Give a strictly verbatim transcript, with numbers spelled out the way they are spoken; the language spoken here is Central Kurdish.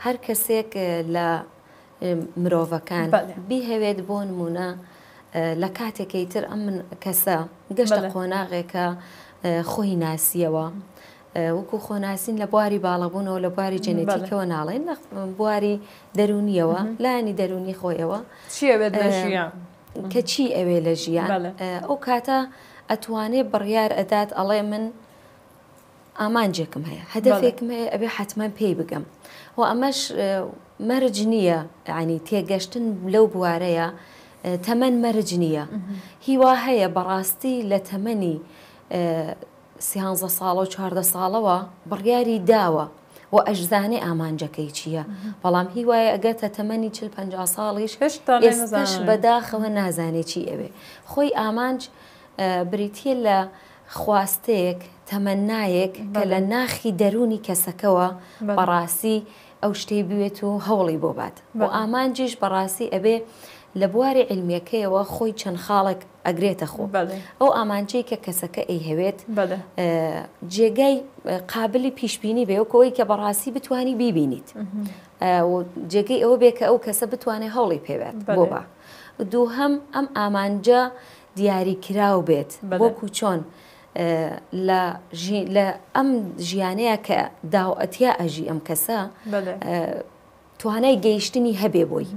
هەر کەسێک لە مرۆڤەکان بیهەوێت، بۆ نمونە لە کاتێکی تر ئەم من کەسە گەشتە قۆناغێکە خۆی ناسیەوە، وەکو خۆناسین لە بواری باڵەبوونەوە، لە بواری جەنێتیکەوە ناڵێن، لە بواری دەرونیەوە، لایەنی دەرونی خۆیەوە. چی ئەوێت لە ژیان؟ کە چی ئەوێ لە ژیان، ئەو کاتە ئەتوانێ بڕیار ئەدات، ئەڵێ من ئامانجێکم هەیە، هەدەفێکم هەیە، ئەبێ حتمما پێی بگەم. و ئەمەش مەرج نییە، ینی تێگەشتن لەو بوارەیە تەمەن مەرج نییە. هیوا هەیە بەڕاستی لە تەمەنی سیانزە ساڵە و چواردە ساڵەوە بڕیاری داوە و ئەشزانێ ئامانجەکەی چییە، بەڵام هیوایە ئەگەتە تەمەنی چل پەنجا ساڵیش ئێستاش بەداخەوە نازانێ چی ئەوێ. خۆی ئامانج بریتە لە خواستەیەک، تەمەنایەک کە لە ناخی دەرونی کەسەکەوە بەڕاستی ئەو شتەی بوێت و هەوڵی بۆ بات. بۆ ئامانجیش بەڕاستی ئەبێ لە بواری علمیەکەیەوە خۆی چەند خاڵێک ئەگرێتە خۆ. ئەو ئامانجەی کە کەسەکە ئەیهەوێت جێگای قابلی پیشبینی بێ، وەکەوەی کە بەڕاستی بتانی بیبینیت، جێگەی ئەوە بێ کە ئەو کەسە بتوانێت هەوڵی پێبێت بۆ بە. دووهەم، ئەم ئامانجە دیاریکراو بێت، وەکو چۆن لە ئەم ژیانەیە کە داوەتیا ئەژی ئەم کەسە توانای گەیشتنی هەبێ بۆی.